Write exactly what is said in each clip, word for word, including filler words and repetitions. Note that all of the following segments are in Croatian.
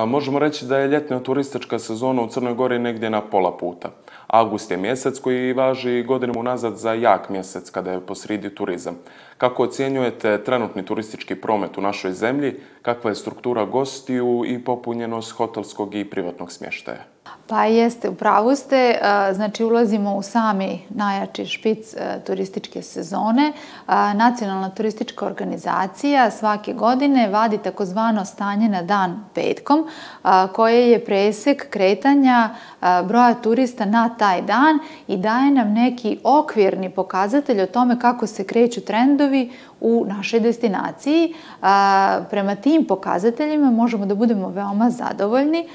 Možemo reći da je ljetna turistička sezona u Crnoj Gori negdje na pola puta. Avgust je mjesec koji važi godinama unazad za jak mjesec kada je posrijedi turizam. Kako ocjenjujete trenutni turistički promet u našoj zemlji, kakva je struktura gostiju i popunjenost hotelskog i privatnog smještaja? Pa jeste, u pravu ste. Znači, ulazimo u sami najjači špic turističke sezone. Nacionalna turistička organizacija svake godine vadi takozvano stanje na dan petkom, koje je presek kretanja broja turista na taj dan i daje nam neki okvirni pokazatelj o tome kako se kreću trendovi u našoj destinaciji. Prema tim pokazateljima možemo da budemo veoma zadovoljni.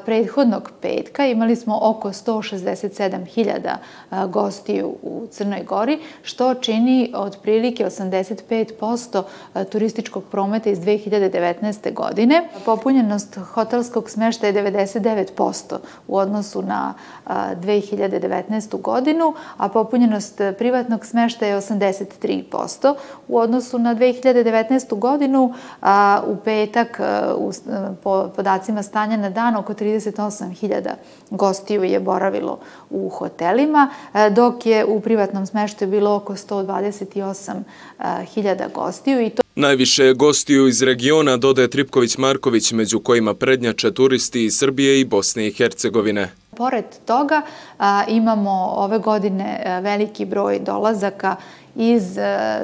Prethodnog petka imali smo oko sto šezdeset sedam hiljada gostiju u Crnoj Gori, što čini otprilike osamdeset pet posto turističkog prometa iz dve hiljade devetnaeste. godine. Popunjenost hotelskog smještaja je devedeset devet posto u odnosu na dve hiljade devetnaestu. godinu, a popunjenost privatnog smještaja je osamdeset tri posto. U odnosu na dve hiljade devetnaestu. godinu, u petak, po podacima stanja na dan, oko trideset osam hiljada gostiju je boravilo u hotelima, dok je u privatnom smještaju bilo oko sto dvadeset osam hiljada gostiju. I to Najviše je gostiju iz regiona, dodaje Tripković-Marković, među kojima prednjače turisti iz Srbije i Bosne i Hercegovine. Pored toga imamo ove godine veliki broj dolazaka iz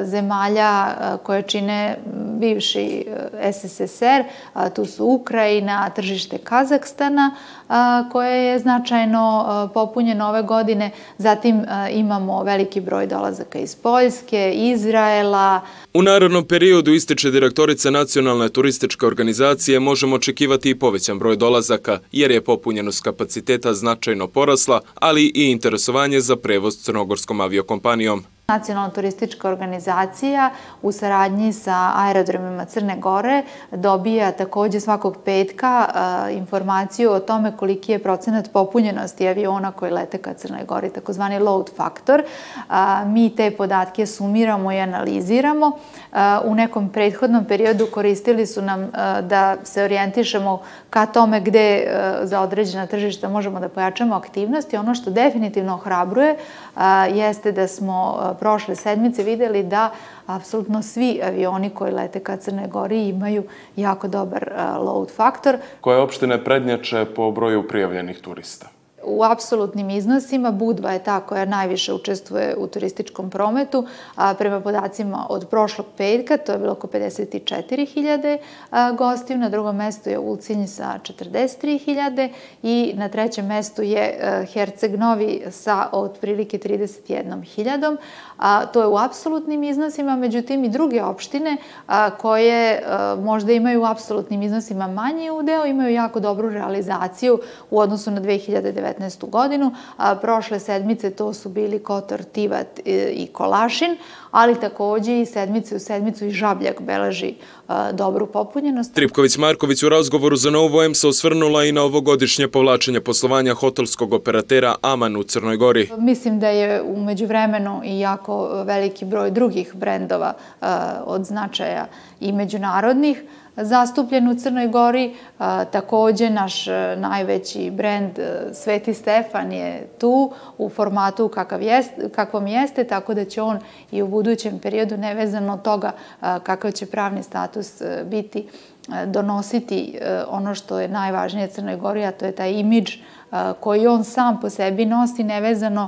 zemalja koje čine bivši S S S R, tu su Ukrajina, tržište Kazahstana, koje je značajno popunjeno ove godine. Zatim imamo veliki broj dolazaka iz Poljske, Izraela. U narednom periodu, ističe direktorica Nacionalne turističke organizacije, možemo očekivati i povećan broj dolazaka, jer je popunjenost kapaciteta značajno porasla, ali i interesovanje za prevoz crnogorskom aviokompanijom. Nacionalna turistička organizacija u saradnji sa aerodromima Crne Gore dobija također svakog petka informaciju o tome koliki je procenat popunjenosti aviona koji lete ka Crnoj Gori, takozvani load factor. Mi te podatke sumiramo i analiziramo. U nekom prethodnom periodu koristili su nam da se orijentišemo ka tome gde za određena tržišta možemo da pojačamo aktivnosti. Ono što definitivno ohrabruje jeste da smo prošle sedmice vidjeli da apsolutno svi avioni koji lete ka Crnoj Gori imaju jako dobar load faktor. Koje opštine prednjače po broju prijavljenih turista? U apsolutnim iznosima Budva je ta koja najviše učestvuje u turističkom prometu. Prema podacima od prošlog petka, to je bilo oko pedeset četiri hiljade gostiju. Na drugom mestu je Ulcinj sa četrdeset tri hiljade i na trećem mestu je Herceg Novi sa otprilike trideset jednom hiljadom. To je u apsolutnim iznosima, međutim i druge opštine koje možda imaju u apsolutnim iznosima manji udeo, imaju jako dobru realizaciju u odnosu na dve hiljade devetnaestu. godinu. Prošle sedmice to su bili Kotor, Tivat i Kolašin, ali također i sedmice u sedmicu i Žabljak beleži dobru popunjenost. Tripković-Marković u razgovoru za Novu M se osvrnula i na ovogodišnje povlačenje poslovanja hotelskog operatera Aman u Crnoj Gori. Mislim da je u međuvremenu i jako veliki broj drugih brendova od značaja i međunarodnih zastupljen u Crnoj Gori. Također naš najveći brend Sveti Stefan je tu u formatu kakvom jeste, tako da će on i u budućem periodu, nevezano od toga kakav će pravni status biti, donositi ono što je najvažnije Crnoj Gori, a to je taj imidž koji on sam po sebi nosi, nevezano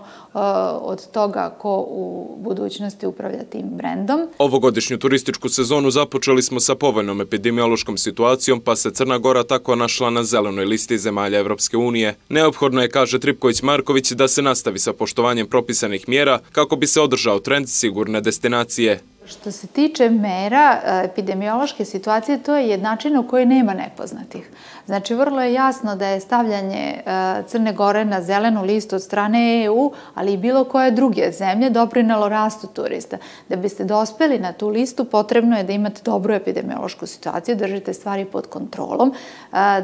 od toga ko u budućnosti upravlja tim brendom. Ovogodišnju turističku sezonu započeli smo sa povoljnom epidemiološkom situacijom, pa se Crna Gora tako našla na zelenoj listi zemalja Evropske unije. Neophodno je, kaže Tripković-Marković, da se nastavi sa poštovanjem propisanih mjera kako bi se održao trend sigurne destinacije. Što se tiče mera epidemiološke situacije, to je jednačina u kojoj nema nepoznatih. Znači, vrlo je jasno da je stavljanje Crne Gore na zelenu listu od strane E U, ali i bilo koje druge zemlje, doprinelo rastu turista. Da biste dospeli na tu listu, potrebno je da imate dobru epidemiološku situaciju, držite stvari pod kontrolom,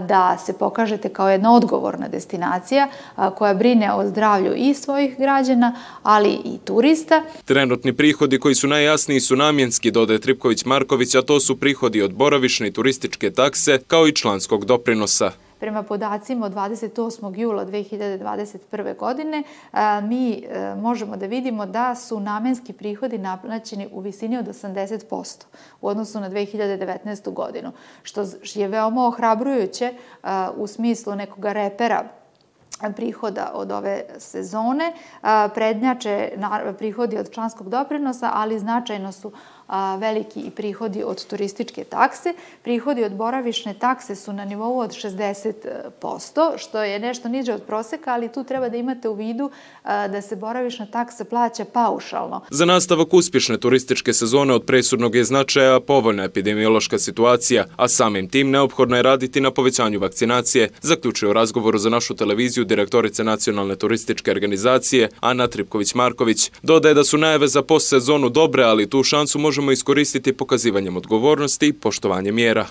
da se pokažete kao jedna odgovorna destinacija koja brine o zdravlju i svojih građana, ali i turista. Trenutni prihodi koji su najjasniji su su namjenski, dodaje Tripković-Marković, a to su prihodi od boravišne i turističke takse kao i članskog doprinosa. Prema podacima od dvadeset osmog jula dve hiljade dvadeset prve. godine mi možemo da vidimo da su namenski prihodi naplaćeni u visini od osamdeset posto u odnosu na dve hiljade devetnaestu. godinu, što je veoma ohrabrujuće u smislu nekog repera prihoda od ove sezone. Prednjače prihodi od članskog doprinosa, ali značajno su veliki i prihodi od turističke takse. Prihodi od boravišne takse su na nivou od šezdeset posto, što je nešto niže od proseka, ali tu treba da imate u vidu da se boravišna taksa plaća paušalno. Za nastavak uspješne turističke sezone od presudnog je značaja povoljna epidemiološka situacija, a samim tim neophodno je raditi na povećanju vakcinacije, zaključuje u razgovoru za našu televiziju direktorica Nacionalne turističke organizacije Ana Tripković-Marković. Dodaje da su najave za postsezonu dobre, ali tu šansu možemo iskoristiti pokazivanjem odgovornosti i poštovanjem mjera.